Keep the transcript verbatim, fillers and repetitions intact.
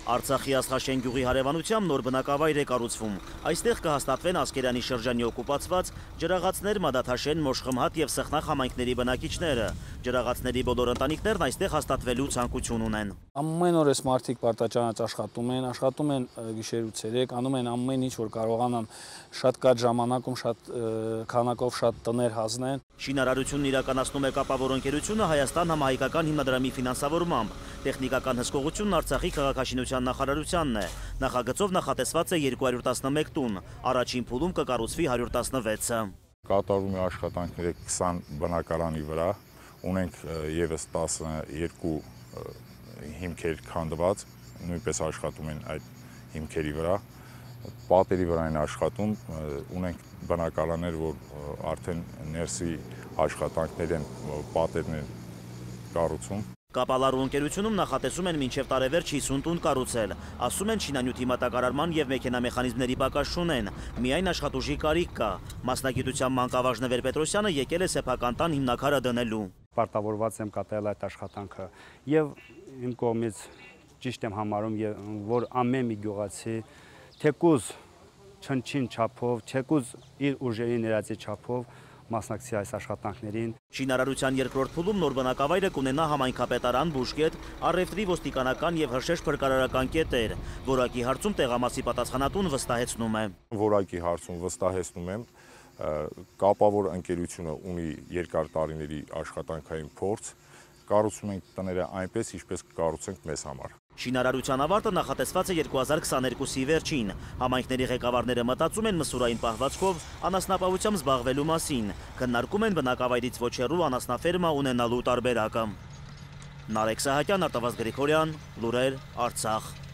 Արցախի Աստղաշեն գյուղի հարևանությամբ նոր բնակավայր է կառուցվում։ Այստեղ կհաստատվեն Ասկերանի շրջանի օկուպացված ջրաղացներ, Մադաթաշեն, Մոշխմհատ եւ Սխնախ համայնքների բնակիչները։ Ջրաղացների բոլոր ընտանիքներն այստեղ հաստատվելու ցանկություն ունեն։ Ամեն օր էս մարդիկ պարտաճանաչ աշխատում են, աշխատում են գիշեր ու ցերեկ, անում են ամեն ինչ, որ կարողանան շատ կարճ ժամանակում շատ քանակով շատ տներ հանձնեն։ Շինարարությունն իրականացնում է կապավոր ընկերությունը Հայաստան համահայկական հիմնադրամի ֆինանսավորմամբ։ Տեխնիկական հսկողությունն Արցախի քաղաքաշինության նախարարությանն է։ Նախագծով նախատեսված է երկու հարյուր տասնմեկ տուն, առաջին փուլում կկառուցվի հարյուր տասնվեցը։ Կատարում է աշխատանքները քսան բնակարանի վրա, ունենք եւս տասնյոթ հիմքեր քանդված, նույնպես աշխատում են այդ հիմքերի վրա, պատերի վրա են աշխատում, ունենք բնակարաններ, որ արդեն ներսի աշխատանքներ են, պատերն են կառուցում։ Կապալարու ընկերությունում նախատեսում են մինչև տարեվերջ հիսուն տուն կառուցել, ասում են շինանյութի մատակարարման եւ մեքենամեխանիզմների պակաս չունեն, միայն աշխատուժի կարիք կա։ Մասնագիտությամբ մանկավարժ Նվեր Պետրոսյանը եկել է սեփական տան հիմնաքարը դնելու։ Պարտավորված եմ կատարել այդ աշխատանքը եւ իմ կողմից ճիշտ եմ համարում, որ ամեն մի գյուղացի թեկուզ չնչին չափով, թեկուզ իր ուժերի ներածի չափով մասնակցի այս աշխատանքներին։ Շինարարության երկրորդ փուլում նոր բնակավայրը կունենա համայնքապետարան, բուժկետ, առևտրի, ոստիկանական եւ հրշեջ փրկարարական կետեր։ Որակի հարցում տեղամասի պատասխանատուն վստահեցնում է։ Որակի հարցում վստահեցնում եմ, կապավոր ընկերությունը ունի երկար տարիների աշխատանքային փորձ, կառուցում ենք տները այնպես, ինչպես կկառուցենք մեզ համար։ Շինարարության ավարտը նախատեսված է երկու հազար քսաներկուսի վերջին։ Համայնքների ղեկավարները մտածում են մսուրային պահվածքով անասնապահությամբ զբաղվելու մասին, քննարկում են բնակավայրից ոչ հեռու անասնաֆերմա ունենալու տարբերակը։ Նարեկ Սահակյան, Արտավազդ Գրիգորյան, լուրեր, Արցախ։